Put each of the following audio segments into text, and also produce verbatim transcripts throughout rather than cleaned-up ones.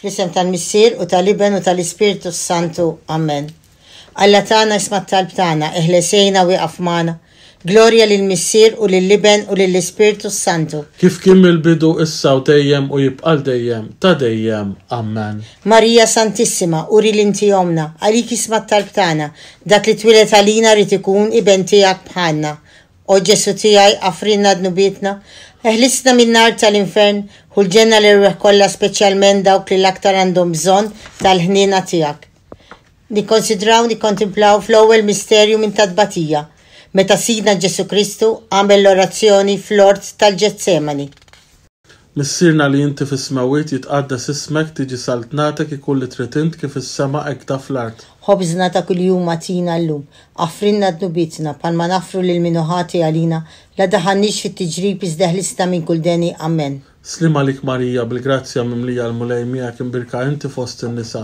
Fl-isem tal-Missier u tal-Iben u tal-Ispirtu Santu. Amen. Alla tagħna isma' t-talb tagħna, eħlesejna wieqaf magħna. Glorja lill-Missier u lill-Iben u lill-Ispirtu Santu. Kif kien mill-bidu issa u dejjem u jibqa' dejjem ta' dejjem. Amen. Marija Santissima, uri l-inti omna, għalik isma' t-talb tagħna, dak li twieled għalina rid ikun iben tiegħek bħalna. O Ġesu tiegħi, aħfrilna dnubietna, eħlisna min-nar tal-infern, ħu l-ġenna l-erwieħ kollha speċjalment dawk li l-aktar għandhom bżonn tal-ħniena tiegħek. Nikkonsidraw, nikkontemplaw fl-ewwel misterju minn tat-tbatija, meta Sidna Ġesu Kristu għamel l-orazzjoni fl-ort tal-Ġetsemani. Missierna li inti fis-smewwiet jitqaddas ismek tiġi saltnatek ikun li trid int kif is-sema hekk fl-art. Ħobżna ta' kuljum agħtina llum, aħfrilna dnubietna bħalma naħfru lil min hu ħati għalina, la ddaħħalniex fit-tiġrib iżda eħlisna minn kull deni. Amen. Sliem għalik Marija bil-grazzja mimlija l-Mulej miegħek imbierka inti fost in-nisa,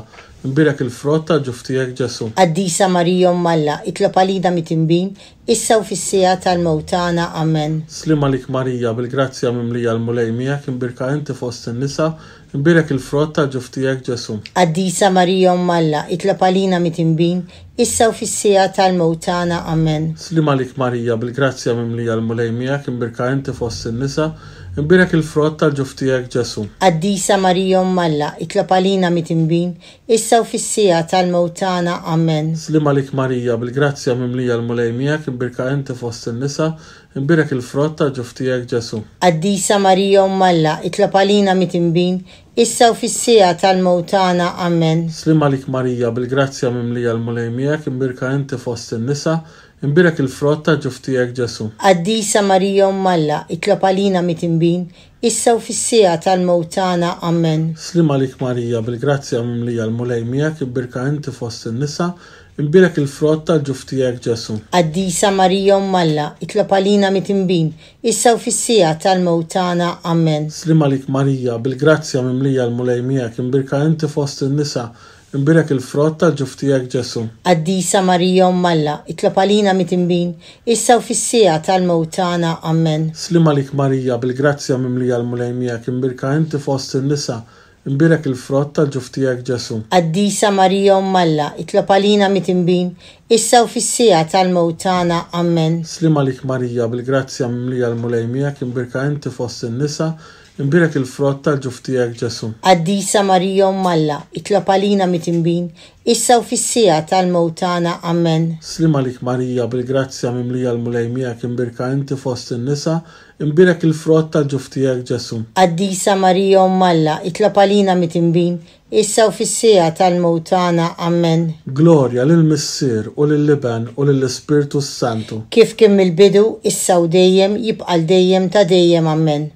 imbierek il-frott tal-ġuf tiegħek Ġesu. Qaddisa Marija Omm Alla, itlob għalina midinbin, issa u fis-siegħa tal-mewt tagħna. Amen. Sliem għalik Marija bil-grazzja mimlija l-Mulej miegħek imbierka inti fost in-nisa, imbierek il-frott tal-ġuf tiegħek Ġesu. Qaddisa Marija Omm Alla, itlob għalina midinbin, issa u fis-siegħa tal-mewt tagħna. Amen. Sliem għalik Marija bil-grazzja mimlija l-Mulej miegħek imbierka inti fost in-nisa, imbierek il-frott tal-ġuf tiegħek Ġesu. Qaddisa Marija Omm Alla, itlob għalina midinbin, issa u fis-siegħa tal-mewt tagħna. Amen. Sliem għalik Marija bil-grazzja mimlija l-Mulej miegħek imbierka inti fost in-nisa, imbierek il-frott tal-ġuf tiegħek Ġesu. Qaddisa Marija Omm Alla, itlob għalina midinbin, issa u fis-siegħa tal-mewt tagħna. Amen. Sliem għalik Marija bil-grazzja mimlija l-Mulej miegħek imbierka inti fost in-nisa, imbierek il-frott tal-ġuf tiegħek Ġesu. Qaddisa Marija Omm Alla, itlob għalina midinbin, issa u fis-siegħa tal-mewt tagħna. Amen. Sliem għalik Marija bil-grazzja mimlija l-Mulej miegħek imbierka inti fost in-nisa, imbierek il-frott tal-ġuf tiegħek Ġesu. Qaddisa Marija Omm Alla, itlob għalina midinbin, issa u fis-siegħa tal-mewt tagħna. Amen. Sliem għalik Marija bil-grazzja mimlija l-Mulej miegħek imbierka inti fost in-nisa, imbierek il-frott tal-ġuf tiegħek Ġesu. Qaddisa Marija Omm Alla, itlob għalina midinbin, issa u fis-siegħa tal-mewt tagħna. Amen. Sliem għalik Marija bil-grazzja mimlija l-Mulej miegħek imbierka inti fost in-nisa, imbierek il-frott tal-ġuf tiegħek Ġesu. Qaddisa Marija Omm Alla, itlob għalina midinbin, issa u fis-siegħa tal-mewt tagħna. Amen. Sliem għalik Marija bil-grazzja mimlija l-Mulej miegħek imbierka inti fost in-nisa, imbierek il-frott tal-ġuf tiegħek Ġesu. Qaddisa Marija Omm Alla, itlob għalina midinbin, issa u fis-siegħa tal-mewt tagħna. Amen. Sliem għalik Marija bil-grazzja mimlija l-Mulej miegħek imbierka inti fost in-nisa, imbierek il-frott tal-ġuf tiegħek Ġesu. Qaddisa Marija Omm Alla, itlob għalina midinbin, issa u fis-siegħa tal-mewt tagħna. Amen. Glorja lill-Missier u lill-Iben u lill-Ispirtu Santu. Kif kien mill-bidu, issa u dejjem, jibqa' dejjem ta' dejjem. Amen.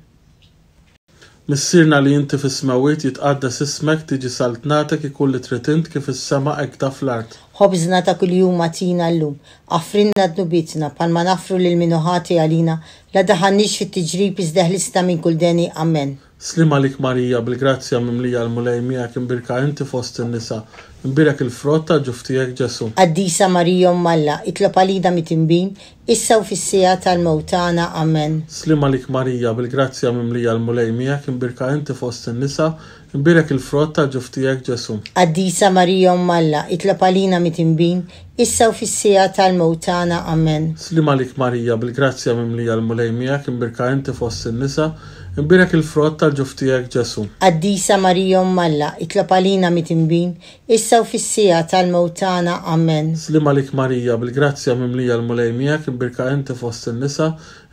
Missierna li inti fis-smewwiet jitqaddas ismek tiġi saltnatek ikun li trid int kif is-sema hekk fl-art. Ħobżna ta' kuljum agħtina llum, aħfrilna dnubietna bħalma naħfru lil min hu ħati għalina, la ddaħħalniex fit-tiġrib iżda eħlisna minn kull deni. Amen. Sliem għalik Marija bil-grazzja mimlija l-Mulej miegħek imbierka inti fost in-nisa, imbierek il-frott tal-ġuf tiegħek Ġesu. Qaddisa Marija Omm Alla, itlob għalina midinbin, issa u fis-siegħa tal-mewt tagħna. Amen. Sliem għalik Marija bil-grazzja mimlija l-Mulej miegħek imbierka inti fost in-nisa, imbierek il-frott tal-ġuf tiegħek Ġesu. Qaddisa Marija Omm Alla, itlob għalina midinbin, issa u fis-siegħa tal-mewt tagħna. Amen. Sliem għalik Marija bil-grazzja mimlija l-Mulej miegħek imbierka inti fost in-nisa, imbierek il-frott tal-ġuf tiegħek Ġesu. Qaddisa Marija Omm Alla, itlob għalina midinbin, issa u fis-siegħa tal-mewt tagħna. Amen. Sliem għalik Marija bil-grazzja mimlija l-Mulej miegħek imbierka inti fost in-nisa,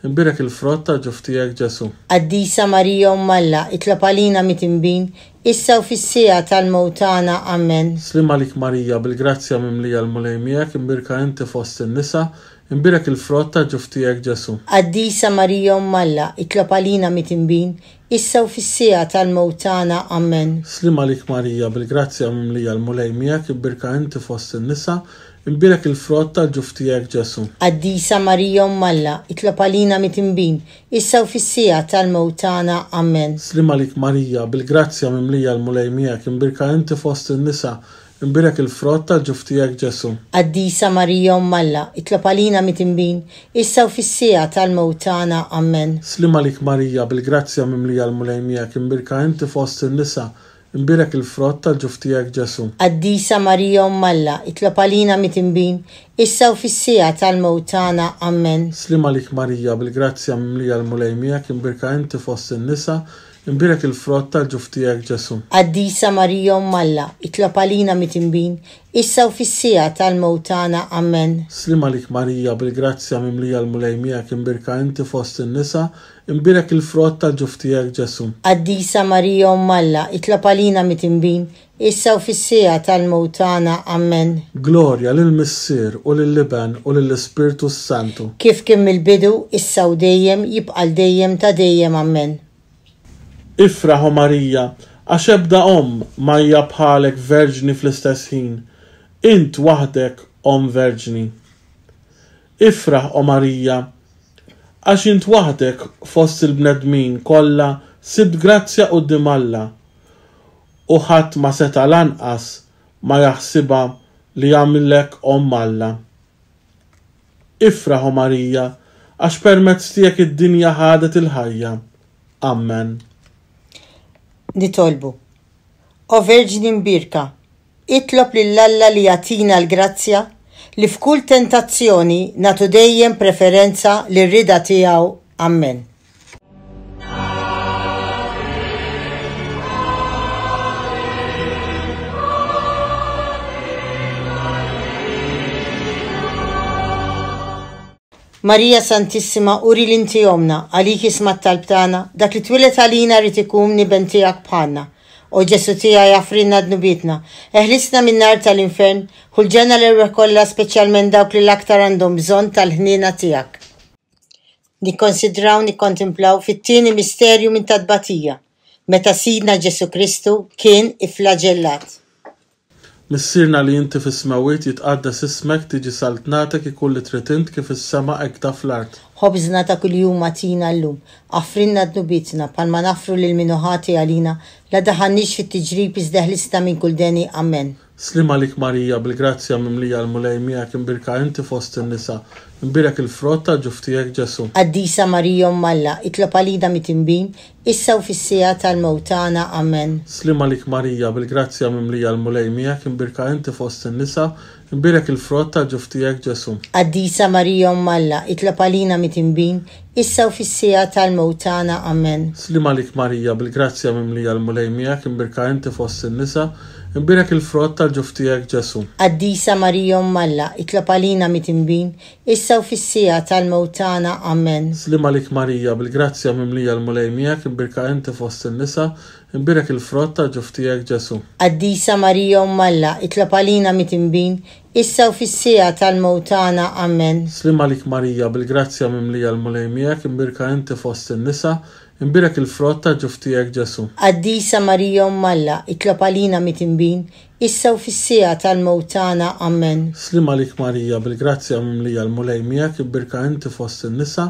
imbierek il-frott tal-ġuf tiegħek Ġesu. Qaddisa Marija Omm Alla, itlob għalina midinbin, issa u fis-siegħa tal-mewt tagħna. Amen. Sliem għalik Marija bil-grazzja mimlija l-Mulej miegħek imbierka inti fost in-nisa, imbierek il-frott tal-ġuf tiegħek Ġesu. Qaddisa Marija Omm Alla, itlob għalina midinbin, issa u fis-siegħa tal-mewt tagħna. Amen. Sliem għalik Marija bil-grazzja mimlija l-Mulej miegħek imbierka inti fost in-nisa, imbierek il-frott tal-ġuf tiegħek Ġesu. Qaddisa Marija Omm Alla, itlob għalina midinbin, issa u fis-siegħa tal-mewt tagħna. Amen. Sliem għalik Marija bil-grazzja mimlija l-Mulej miegħek imbierka inti fost in-nisa, imbierek il-frott tal-ġuf tiegħek Ġesu. Qaddisa Marija Omm Alla, itlob għalina midinbin, issa u fis-siegħa tal-mewt tagħna. Amen. Sliem għalik Marija bil-grazzja mimlija l-Mulej miegħek imbierka inti fost in-nisa, imbierek il-frott tal-ġuf tiegħek Ġesù. Qaddisa Marija Omm Alla, itlob għalina midinbin, issa u fis-siegħa tal-mewt tagħna. Amen. Sliem għalik Marija, bil-grazzja mimlija l-Mulej miegħek, imbierka inti fost in-nisa, imbierek il-frott tal-ġuf tiegħek Ġesù. Qaddisa Marija Omm Alla, itlob għalina midinbin, issa u fis-siegħa tal-mewt tagħna. Amen. Sliem għalik Marija, bil-grazzja mimlija l-Mulej miegħek, imbierka inti fost in-nisa, imbierek il-frott tal-ġuf tiegħek Ġesù. Qaddisa Marija Omm Alla, itlob għalina midinbin, issa u fis-siegħa tal-mewt tagħna. Amen. Glorja lill-Missier u lill-Iben u lill-Ispirtu s-Santu. Kif kien mill-bidu, issa u dejjem, jibqa' l dejjem ta' dejjem. Amen. Ifraħ, o Marija, għax ebda omm ma hija bħalek verġni fl-istess ħin, int waħdek omm verġni. Ifraħ, o Marija, għax int waħdek fost il-bnedmin kollha sibt grazzja quddiem Alla, u ħadd ma seta' lanqas ma jaħsibha li jagħmillek omm Alla. Ifraħ, o Marija, għax permezz tiegħek id-dinja ħadet il-ħajja. Amen. Nitolbu. O Verġni Mbierka, itlob lil Alla li jagħtina l-grazzja li f'kull tentazzjoni nagħtu dejjem preferenza lir-rieda tiegħu. Amen. Marija Santissima, uri l-inti omna, għalik isma' t-talb tagħna, dak li twieled għalina rrid ikun iben tiegħek bħalna. O Ġesù tiegħi, aghfrilna dnubietna, eħlisna min-nar tal-infern, ħu l-ġenna l-erwieħ kollha, speċjalment dawk li l-aktar għandhom bżonn tal-ħniena tiegħek. Nikkonsidraw, nikkontemplaw fit-tieni misterju minn tat-tbatija, meta Sidna Ġesù Kristu kien ifflaġellat. Missierna li inti fis-smewwiet, jitqaddas ismek, tiġi saltnatek, ikun li trid int kif is-sema hekk ta' fl-art. Ħobżna ta' kuljum agħtina llum, aghfrilna dnubietna bħalma naghfru lil min hu ħati għalina, la daħalniex fit-tiġrib iżda ħlisna minn kull deni. Amen. Sliem għalik Marija, bil-grazzja mimlija l-Mulej miegħek, imbierka inti fost in-nisa, imbierek il-frott tal-ġuf tiegħek Ġesù. Qaddisa Marija Omm Alla, itlob għalina midinbin, issa u fis-siegħa tal-mewt tagħna. Amen. Sliem għalik Marija, bil-grazzja mimlija l-Mulej miegħek, imbierka inti fost in-nisa, imbierek il-frott tal-ġuf tiegħek Ġesù. Qaddisa Marija Omm Alla, itlob għalina midinbin, issa u fis-siegħa tal-mewt tagħna. Amen. Sliem għalik Marija, bil-grazzja mimlija l-Mulej miegħek, imbierka inti fost in-nisa, imbierek il-frott tal-ġuf tiegħek Ġesù. Qaddisa Marija Omm Alla, itlob għalina midinbin, issa u fis-siegħa tal-mewt tagħna. Amen. Sliem għalik Marija, bil-grazzja mimlija l-Mulej miegħek, imbierka inti fost in-nisa, imbierek il-frott tal-ġuf tiegħek Ġesù. Qaddisa Marija Omm Alla, itlob għalina midinbin, issa u fis-siegħa tal-mewt tagħna. Amen. Sliem għalik Marija, bil-grazzja mimlija l-Mulej miegħek, imbierka inti fost in-nisa, imbierek il-frott tal-ġuf tiegħek Ġesù. Qaddisa Marija Omm Alla, itlob għalina midinbin, issa u fis-siegħa tal-mewt tagħna. Amen. Sliem għalik Marija, bil-grazzja mimlija l-Mulej miegħek, imbierka inti fost in-nisa,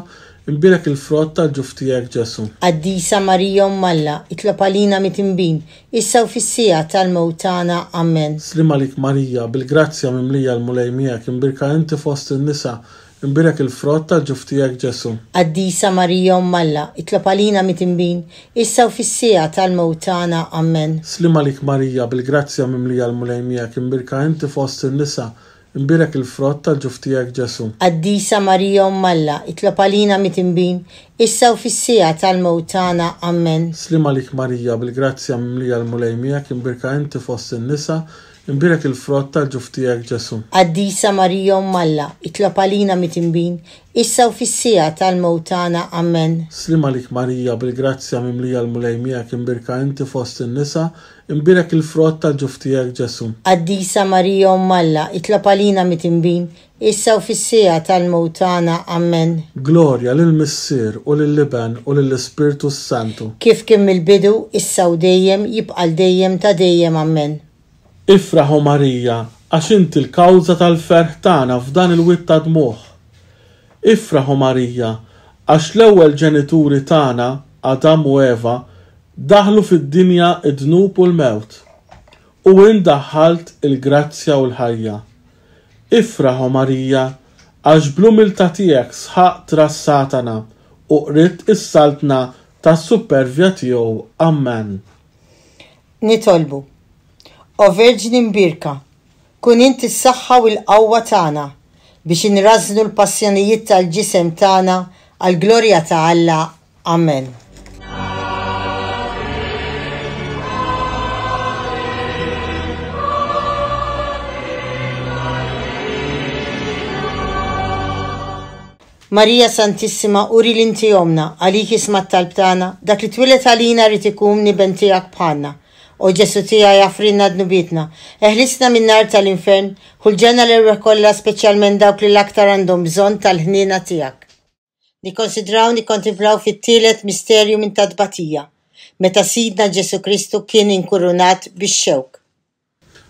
imbierek il-frott tal-ġuf tiegħek Ġesù. Qaddisa Marija Omm Alla, itlob għalina midinbin, issa u fis-siegħa tal-mewt tagħna. Amen. Sliem għalik Marija, bil-grazzja mimlija l-Mulej miegħek, imbierka inti fost in-nisa, imbierek il-frott tal-ġuf tiegħek Ġesù. Qaddisa Marija Omm Alla, itlob għalina midinbin, issa u fis-siegħa tal-mewt tagħna. Amen. Sliem għalik Marija, bil-grazzja mimlija l-Mulej miegħek, imbierka inti fost in-nisa, imbierek il-frott tal-ġuf tiegħek Ġesù. Qaddisa Marija Omm Alla, itlob għalina midinbin, issa u fis-siegħa tal-mewt tagħna. Amen. Sliem għalik Marija, bil-grazzja mimlija l-Mulej miegħek, imbierka inti fost in-nisa, imbierek il-frott tal-ġuf tiegħek Ġesù. Qaddisa Marija Omm Alla, itlob għalina midinbin, issa u fis-siegħa tal-mewt tagħna. Amen. Sliem għalik Marija, bil-grazzja mimlija l-Mulej miegħek, imbierka inti fost in-nisa, imbierek il-frott tal-ġuf tiegħek Ġesù. Qaddisa Marija Omm Alla, itlob għalina midinbin, issa u fis-siegħa tal-mewt tagħna. Amen. Glorja lill-Missier u lill-Iben u lill-Ispirtu s-Santu. Kif kien mill-bidu, issa u dejjem, jibqa' l dejjem ta' dejjem. Amen. Ifraħ, o Marija, għax inti l-kawża tal-ferħ tagħna f'dan il-wied ta' dmugħ. Ifraħ, o Marija, għax l-ewwel ġenituri tagħna, Adam u Eva, daħlu fid-dinja id-dnub u l-mewt, u int daħħalt il-grazzja u l-ħajja. Ifraħ, o Marija, għax bl-umiltà tiegħek sħaqt ras Satana u qridt is-saltna tas-supervja tiegħu. Amen. Nitolbu. O Verġni Mbierka, kun inti s-saħħa u l-qawwa tagħna biex inrażżnu l-passjonijiet tal-ġisem tagħna għall-glorja ta' Alla. Amen. Marija Santissima, uri li inti omna, għalik isma' t-talb tagħna, dak li twieled għalina rrid ikun iben tiegħek bħalna. O Ġesù tiegħi, aghfrilna dnubietna, eħlisna min-nar tal-infern, ħu l-ġenna l-erwieħ kollha, speċjalment dawk li l-aktar għandhom bżonn tal-ħniena tiegħek. Nikkonsidraw nikkontemplaw fit-tielet misterju minn ta' tbatija, meta Sidna Ġesù Kristu kien inkurunat bix-xewk.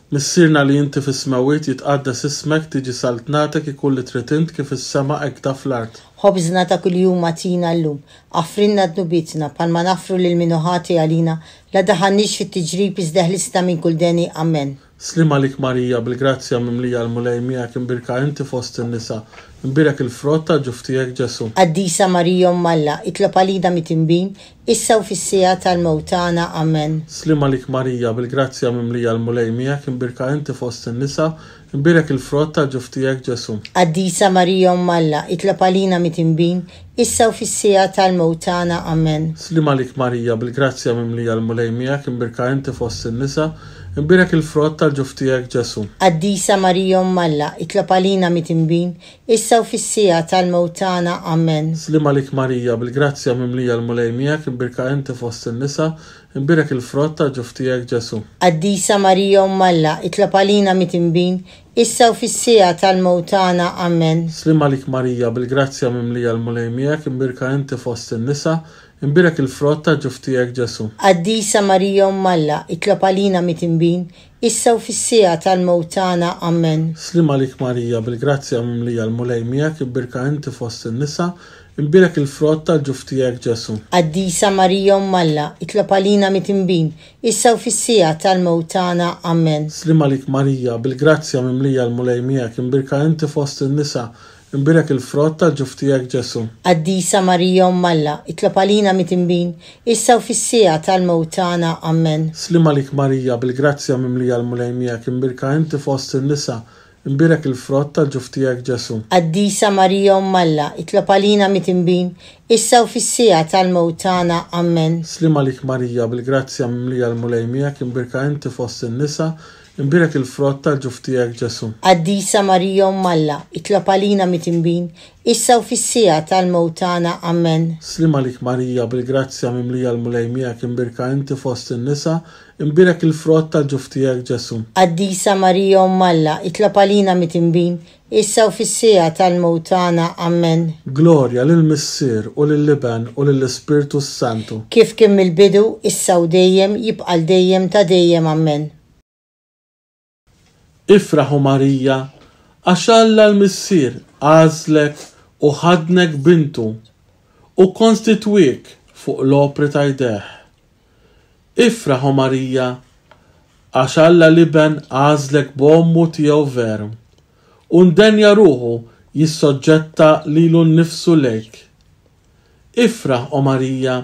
Missierna li inti fis-smewwiet, jitqaddes ismek, tiġi saltnatek, ikun li trid int kif fis-sema hekk fl-art. Ħobżna ta' kuljum agħtina llum, aghfrilna dnubietna bħalma naħfru lil min hu ħati għalina, la ddaħħalniex fit-tiġrib iżda eħlisna minn kull deni. Amen. Sliem għalik Marija, bil-grazzja mimlija, l-Mulej miegħek, imbierka inti fost in-nisa, imbierek il-frott tal-ġuf tiegħek Ġesù. Qaddisa Marija Omm Alla, itlob għalina midinbin, issa u fis-siegħa tal-mewt tagħna. Amen. Sliem għalik Marija, bil-grazzja mimlija, l-Mulej miegħek, imbierka inti fost in-nisa, imbierek il-frott tal-ġuf tiegħek Ġesù. Qaddisa Marija Omm Alla, itlob għalina midinbin, issa u fis-siegħa tal-mewt tagħna. Amen. Sliem għalik Marija, bil-grazzja mimlija, l-Mulej miegħek, imbierka inti fost in-nisa, imbierek il-frott tal-ġuf tiegħek Ġesù. Qaddisa Marija Omm Alla, itlob għalina midinbin, issa u fis-siegħa tal-mewt tagħna. Amen. Sliem għalik Marija, bil-grazzja mimlija, l-Mulej miegħek, imbierka inti fost in-nisa, imbierek il-frott tal-ġuf tiegħek Ġesù. Qaddisa Marija Omm Alla, itlob għalina midinbin, issa u fis-siegħa tal-mewt tagħna. Amen. Sliem għalik Marija, bil-grazzja mimlija, l-Mulej miegħek, imbierka inti fost in-nisa, imbierek il-frott tal-ġuf tiegħek Ġesù. Qaddisa Marija Omm Alla, itlob għalina midinbin, issa u fis-siegħa tal-mewt tagħna. Amen. Sliem għalik Marija, bil-grazzja mimlija, l-Mulej miegħek, imbierka inti fost in-nisa, imbierek il-frott tal-ġuf tiegħek Ġesù. Qaddisa Marija Omm Alla, itlob għalina midinbin, issa u fis-siegħa tal-mewt tagħna. Amen. Sliem għalik Marija, bil-grazzja mimlija, l-Mulej miegħek, imbierka inti fost in-nisa, imbierek il-frott tal-ġuf tiegħek Ġesù. Qaddisa Marija Omm Alla, itlob għalina midinbin, issa u fis-siegħa tal-mewt tagħna. Amen. Sliem għalik Marija, bil-grazzja mimlija, l-Mulej miegħek, imbierka inti fost in-nisa, imbierek il-frott tal-ġuf tiegħek Ġesù. Qaddisa Marija Omm Alla, itlob għalina midinbin, issa u fis-siegħa tal-mewt tagħna. Amen. Sliem għalik Marija, bil-grazzja mimlija, l-Mulej miegħek, imbierka inti fost in-nisa, imbierek il-frott tal-ġuf tiegħek Ġesù. Qaddisa Marija Omm Alla, itlob għalina midinbin, issa u fis-siegħa tal-mewt tagħna. Amen. Sliem għalik Marija, bil-grazzja mimlija, l-Mulej miegħek, imbierka inti fost in-nisa, imbierek il-frott tal-ġuf tiegħek Ġesù. Qaddisa Marija Omm Alla, itlob għalina midinbin, issa u fis-siegħa tal-mewt tagħna. Amen. Glorja lill-Missier u lill-Iben u lill-Ispirtu s-Santu. Kif kien mill-bidu, issa u dejjem, jibqa' l dejjem ta' dejjem. Amen. Ifraħ, O Marija, għax Alla l-Missier għażlek u ħadnek bintu u kkonstitwiek fuq l-opri ta' jdejh. Ifraħ, O Marija, għax Alla l-Iben għażlek b'ommu tiegħu veru u ndenja ruħu jissoġġetta lilu nnifsu lejk. Ifraħ, O Marija,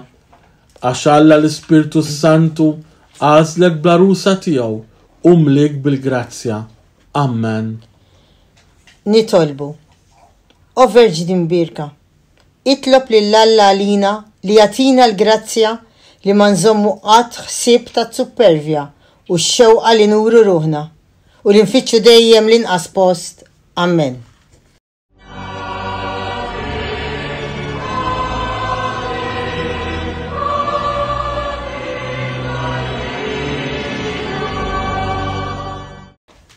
għax Alla l-Ispirtu s-Santu għażlek bl-għarusa tiegħu u mliek bil-grazzja. Amen. Nitolbu. O Verġni Mbierka, itlob lil Alla għalina li jagħtina l-grazzja li ma nżommu qatt ħsieb ta' supervja u x-xewqa li nuru ruħna u li nfittxu dejjem l-inqas post. Amen.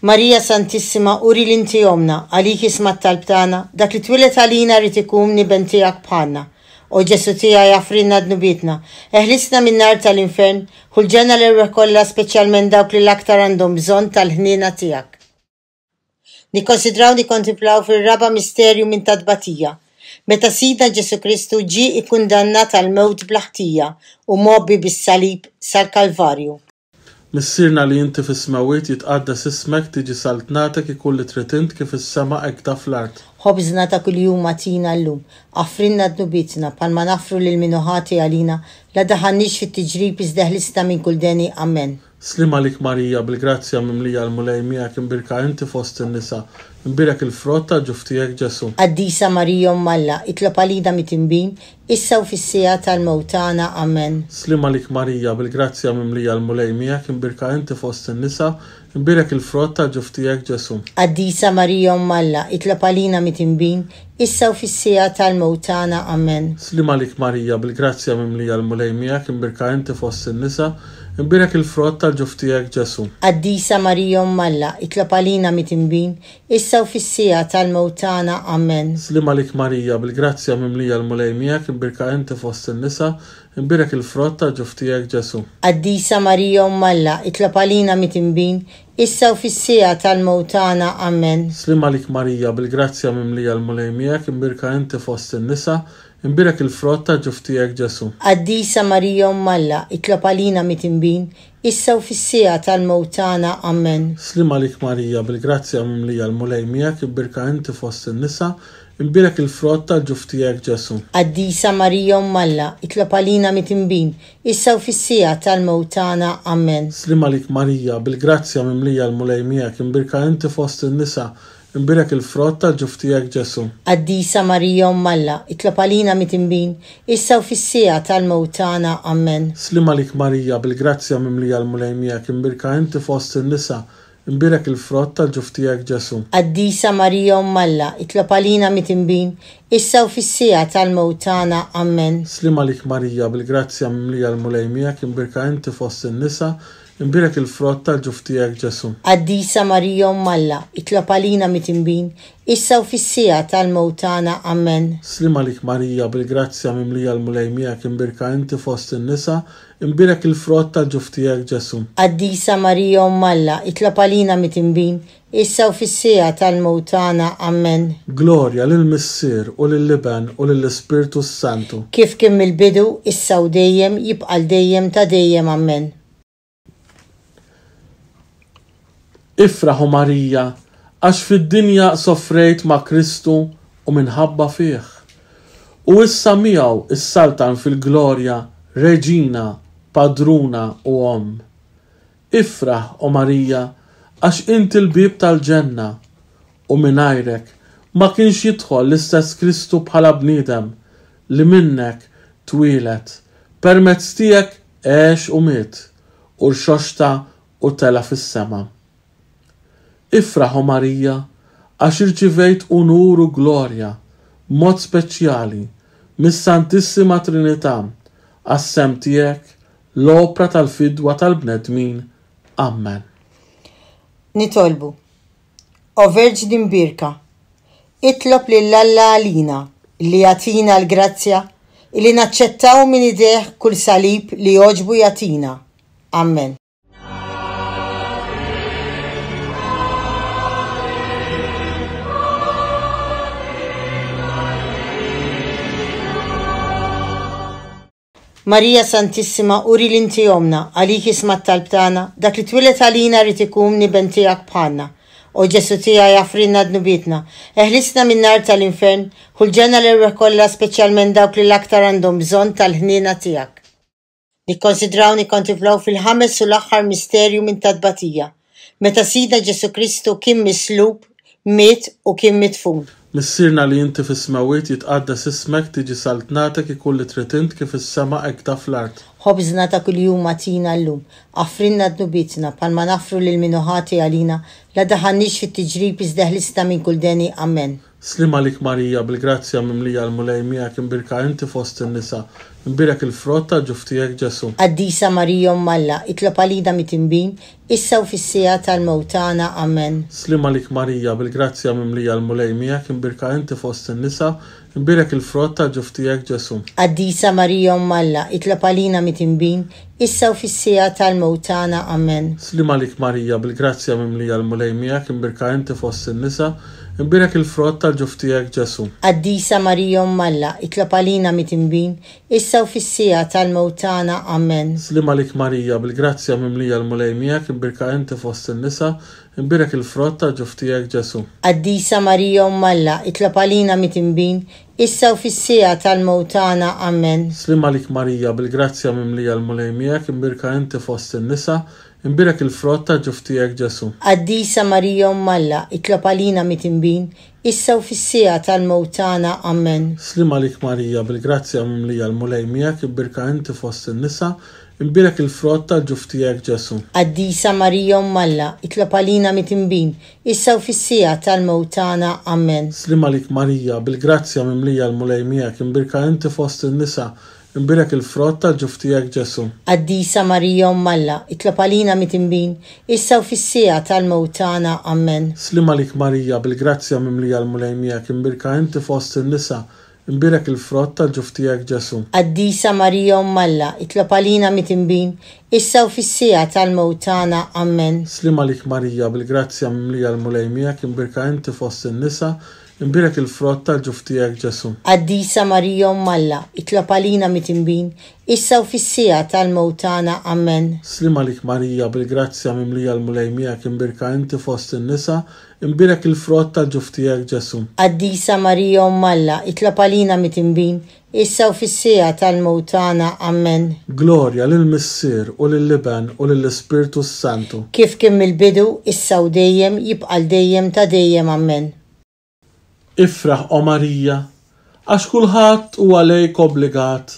Marija Santissima, uri li inti omna, għalik isma' t-talb tagħna, dak li twieled għalina rrid ikun iben tiegħek bħalna. O Ġesù tiegħi, aghfrilna dnubietna, eħlisna min-nar tal-infern, ħu l-ġenna l-erwieħ kollha, speċjalment dawk li l-aktar għandhom bżonn tal-ħniena tiegħek. Nikkonsidraw nikkontemplaw fir-raba' misterju minn ta' tbatija, meta Sidna Ġesù Kristu ġie ikkundannat għall-mewt bla ħtija u mgħobbi bis-salib sal-Kalvarju. Missierna li inti fis-smewwiet, jitqaddes ismek, tiġi saltnatek, ikun li trid int kif fis-sema hekk fl-art. Ħobżna ta' kuljum agħtina llum. Aħfrilna dnubietna bħalma naħfru lil min hu ħati għalina, la daħalniex fit-tiġrib iżda ħlisna minn kull deni. Amen. Sliem għalik Marija, bil-grazzja mimlija l-Mulej miegħek, imbierka inti fost in-nisa, imbierek il-frott tal-ġuf tiegħek Ġesù. Qaddisa Marija Omm Alla, itlob għalina mitinbin, issa u fis-siegħa tal-mewt tagħna. Amen. Sliem għalik Marija, bil-grazzja mimlija l-Mulej miegħek, imbierka inti fost in-nisa, imbierek il-frott tal-ġuf tiegħek Ġesù. Qaddisa Marija Omm Alla, itlob għalina mitinbin, issa u fis-siegħa tal-mewt tagħna. Amen. Sliem għalik Marija, bil-grazzja mimlija l-Mulej miegħek, imbierka inti fost in-nisa, imbierek il-frott tal-ġuf tiegħek Ġesù. Qaddisa Marija Omm Alla, itlob għalina mitinbin, issa u fis-siegħa tal-mewt tagħna. Amen. Sliem għalik Marija, bil-grazzja mimlija l-Mulej miegħek, imbierka inti fost in-nisa, imbierek il-frott tal-ġuf tiegħek Ġesù. Qaddisa Marija Omm Alla, itlob għalina mitinbin, issa u fis-siegħa tal-mewt tagħna. Amen. Sliem għalik Marija, bil-grazzja mimlija l-Mulej miegħek, imbierka inti fost in-nisa, imbierek il-frott tal-ġuf tiegħek Ġesù. Qaddisa Marija Omm Alla, itlob għalina mitinbin, issa u fis-siegħa tal-mewt tagħna. Amen. Sliem għalik Marija, bil-grazzja mimlija l-Mulej miegħek, imbierka inti fost in-nisa, imbierek il-frott tal-ġuf tiegħek Ġesù. Qaddisa Marija Omm Alla, itlob għalina mitinbin, issa u fis-siegħa tal-mewt tagħna. Amen. Sliem għalik Marija, bil-grazzja mimlija l-Mulej miegħek, imbierka inti fost in-nisa, imbierek il-frott tal-ġuf tiegħek Ġesù. Qaddisa Marija Omm Alla, itlob għalina mitinbin, issa u fis-siegħa tal-mewt tagħna. Amen. Sliem għalik Marija, bil-grazzja mimlija l-Mulej miegħek, imbierka inti fost in-nisa, imbierek il-frott tal-ġuf tiegħek Ġesù. Qaddisa Marija Omm Alla, itlob għalina mitinbin, issa u fis-siegħa tal-mewt tagħna. Amen. Sliem għalik Marija, bil-grazzja mimlija l-Mulej miegħek, imbierka inti fost in-nisa, imbierek il-frott tal-ġuf tiegħek Ġesù. Qaddisa Marija Omm Alla, itlob għalina mitinbin, issa u fis-siegħa tal-mewt tagħna. Amen. Sliem għalik Marija, bil-grazzja mimlija l-Mulej miegħek, imbierka inti fost in-nisa, imbierek il-frott tal-ġuf tiegħek Ġesù. Qaddisa Marija Omm Alla, itlob għalina mitinbin, issa u fis-siegħa tal-mewt tagħna. Amen. Glorja lill-Missier u lill-Iben u lill-Ispirtu s-Santu. Kif kien mill-bidu, issa u dejjem, jibqa' l dejjem ta' dejjem. Amen. Ifraħu Marija, għax fid-dinja soffrejt ma' Kristu u minħabba fih. U issa miegħu is-saltan fil-glorja, reġina, padruna u omm. Ifraħ, o Marija, għax inti l-bieb tal-ġenna, u mingħajrek ma kienx jidħol l-istess Kristu bħala bniedem li minnek twieled, permezz tiegħek għex u miet, u rxoxta u tela fis-sema. Ifraħ, o Marija, għax irċivejt unur u glorja, mod speċjali, mis-Santissima Trinità, għas-sem tiegħek, l-opra tal-fidwa tal-bnedmin. Amen. Nitolbu. O Verġni Mbierka, itlob lil Alla għalina li jagħtina l-grazzja li naċċettaw minn idejh kull salib li jogħġbu jagħtina. Amen. Marija Santissima, uri l-inti omna, għalik isma' t-talb tagħna, dak li twieled għalina rrid ikun niben tiegħek bħalna. O Ġesu tiegħi, aħfrilna dnubietna, eħlisna min-nar tal-infern, ħu l-ġenna l-erwieħ kollha, speċjalment dawk li l-aktar għandhom bżonn tal-ħniena tiegħek. Nikkonsidraw nikkontemplaw fil-ħames u l-aħħar misterju minn ta' tbatija, meta Sidna Ġesu Kristu kien mislub, miet u kien midfun. Missierna li inti fis-smewwiet, jitqaddas ismek, tiġi saltnatek, ikun li trid int kif is-sema hekk fl-art. Ħobżna ta' kuljum agħtina llum, aħfrilna dnubietna bħalma naħfru lil min hu ħati għalina, la daħalniex fit-tiġrib iżda ħlisna minn kull deni. Amen. Sliem għalik Marija, bil-grazzja mimlija l-Mulej miegħek, imbierka inti fost in-nisa, imbierek il-frott tal-ġuf tiegħek Ġesù. Qaddisa Marija Omm Alla, itlob għalina mitinbin, issa u fis-siegħa tal-mewt tagħna. Amen. Sliem għalik Marija, bil-grazzja mimlija l-Mulej miegħek, imbierka inti fost in-nisa, imbierek il-frott tal-ġuf tiegħek Ġesù. Qaddisa Marija Omm Alla, itlob għalina mitinbin, issa u fis-siegħa tal-mewt tagħna. Amen. Sliem għalik Marija, bil-grazzja mimlija l-Mulej miegħek, imbierka inti fost in-nisa, imbierek il-frott tal-ġuf tiegħek Ġesù. Qaddisa Marija Omm Alla, itlob għalina mitinbin, issa issa u fis-siegħa tal-mewt tagħna. Amen. Sliem għalik Marija, bil-grazzja mimlija l-Mulej miegħek, imbierka inti fost in-nisa, imbierek il-frott ta' ġuf tiegħek Ġesu. Qaddisa Marija Omm Alla, itlob għalina midinbin, issa u fis-siegħa tal-mewt tagħna. Amen. Sliem għalik Marija, bil-grazzja mimlija l-Mulej miegħek, imbierka inti fost in-nisa, imbierek il-frott ta' ġuf tiegħek Ġesu. Qaddisa Marija Omm Alla, itlob għalina midinbin, issa u fis-siegħa tal-mewt tagħna. Amen. Sliem għalik Marija, bil-grazzja mimlija l-Mulej miegħek, imbierka inti fost in-nisa, imbierek il-frott tal-ġuf tiegħek Ġesu. Qaddisa Marija Omm Alla, itlob għalina midinbin, issa u fis-siegħa tal-mewt tagħna. Amen. Sliem għalik Marija, bil-grazzja mimlija l-Mulej miegħek, imbierka inti fost in-nisa, imbierek il-frott tal-ġuf tiegħek Ġesu. Qaddisa Marija Omm Alla, itlob għalina midinbin, issa u fis-siegħa tal-mewt tagħna. Amen. Sliem għalik Marija, bil-grazzja mimlija l-Mulej miegħek, imbierka inti fost in-nisa, imbierek il-frott tal-ġuf tiegħek Ġesu. Qaddisa Marija Omm Alla, itlob għalina midinbin, issa u fis-siegħa tal-mewt tagħna. Amen. Sliem għalik Marija, bil-grazzja mimlija l-Mulej miegħek, imbierka inti fost in-nisa, imbierek il-frott tal-ġuf tiegħek Ġesu. Qaddisa Marija Omm Alla, itlob għalina midinbin, issa u fis-siegħa tal-mewt tagħna. Amen. Sliem għalik Marija, bil-grazzja mimlija l-Mulej miegħek, imbierka inti fost in-nisa, imbierek il-frott tal-ġuf tiegħek Ġesu. Qaddisa Marija Omm Alla, itlob għalina midinbin, issa u fis-siegħa tal-mewt tagħna. Amen. Glorja lill-Missier u lill-Iben u lill-Ispirtu s-Santu. Kif kien mill-bidu, issa u dejjem, jibqa' l dejjem ta' dejjem. Amen. Ifraħ, o Marija, għax kulħadd huwa lejk obbligat.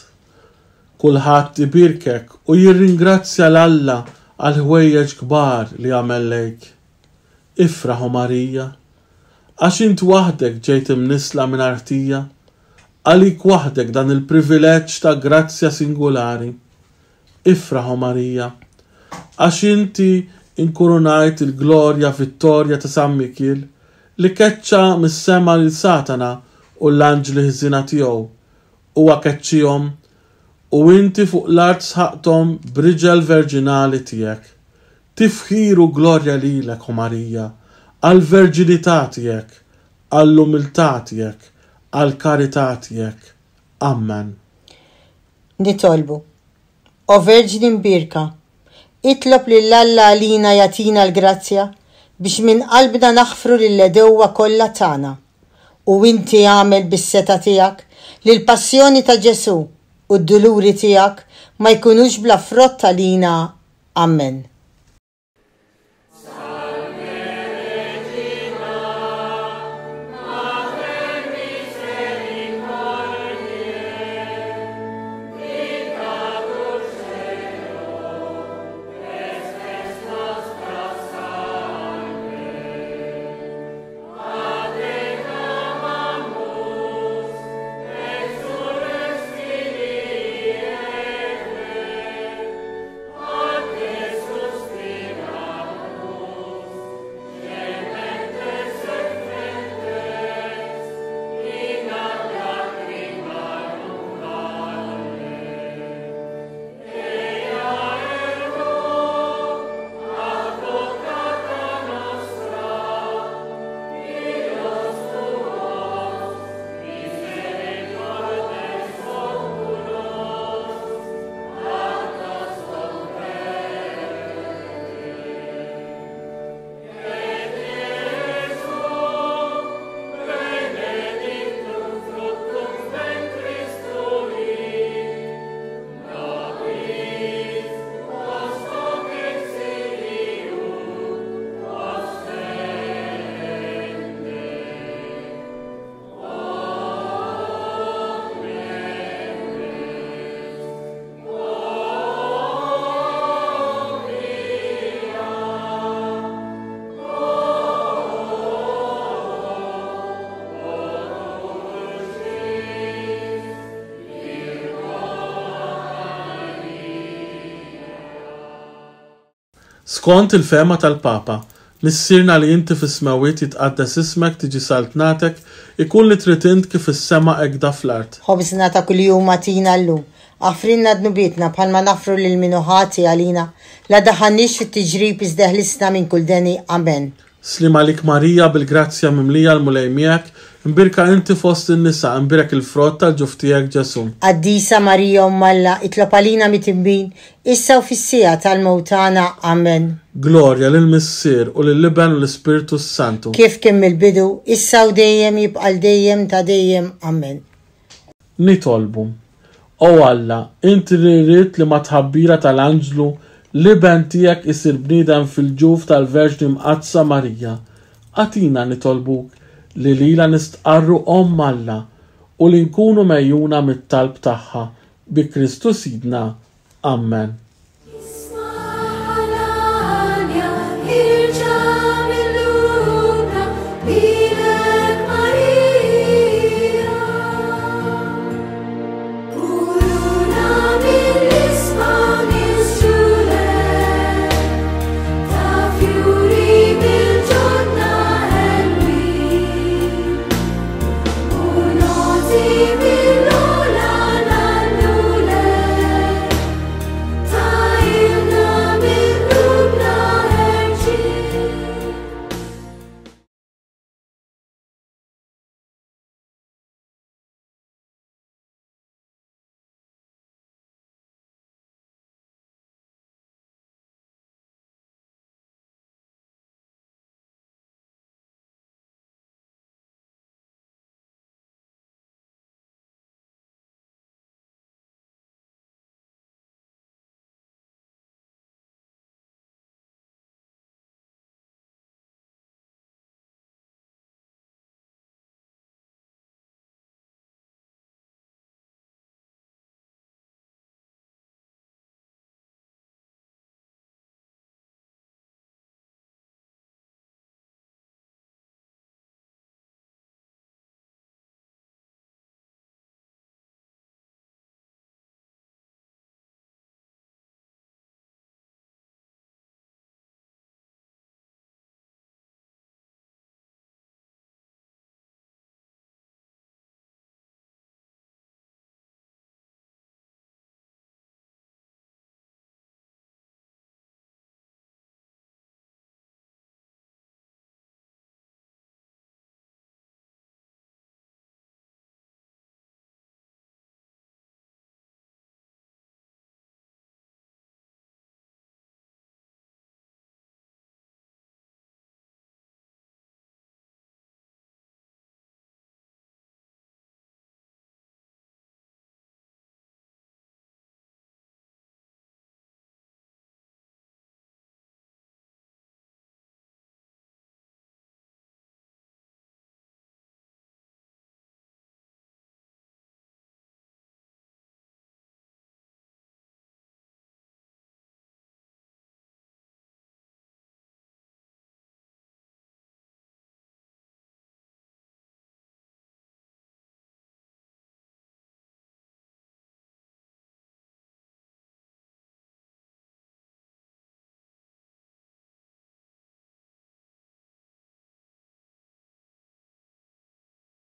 Kulħadd ibierkek u jirringrazzja 'l Alla għal ħwejjeġ kbar li għamel lejk. Ifraħ, o Marija, għax int waħdek ġejt imnissla mingħajr ħtija, għalik waħdek dan il-privileġġ ta' grazzja singolari. Ifraħ, o Marija, għax inti inkurunajt il-glorja vittorja ta' San Mikiel, li keċċa mis-sema lil Satana u l-anġli ħżiena tiegħu, huwa keċċihom u inti fuq l-art sħaqthom b'riġel verġinali tiegħek. Tifħir u glorja lilek, o Marija, għall-verġinità tiegħek, għall-umiltà tiegħek, għall-karità tiegħek. Amen. Nitolbu. O Verġni Mbierka, itlob lil Alla għalina jagħtina l-grazzja biex minn qalbna naħfru lill-għedewwa kollha tagħna. U inti għamel bis-setgħa tiegħek li l-passjoni ta' Ġesu u d-duluri tiegħek ma jkunux bla frott għalina. Amen. Skont il-fehma tal-Papa, Missierna li inti fis-smewwiet jitqaddes ismek, tiġi saltnatek, ikun li trid int kif is-sema hekk da fl-art. Ħobżna ta' kuljum agħtina llum, aħfrilna dnubietna bħalma naħfru lil min hu ħati għalina, la daħalniex fit-tiġrib iżda ħlisna minn kull deni. Amen. Sliem għalik Marija, bil-grazzja mimlija, l-Mulej miegħek, imbierka inti fost in-nisa, imbierek il-frott tal-ġuf tiegħek Ġesù. Qaddisa Marija, Omm Alla, itlob għalina midinbin, issa u fis-siegħa tal-mewt tagħna. Amen. Glorja lill-Missier u lill-Iben u l-Ispirtu Santu. Kif kien mill-bidu, issa u dejjem, jibqa' dejjem ta' dejjem. Amen. Nitolbu. O Alla, inti li ridt li mat-tħabbira tal-anġlu l-Iben tiegħek isir bniedem fil-ġuf tal-Verġni Mqaddsa Marija, agħtina, nitolbuk, li lilha nistqarru Omm Alla u li nkunu megħjuna mit-talb tagħha bi Kristu Sidna. Amen.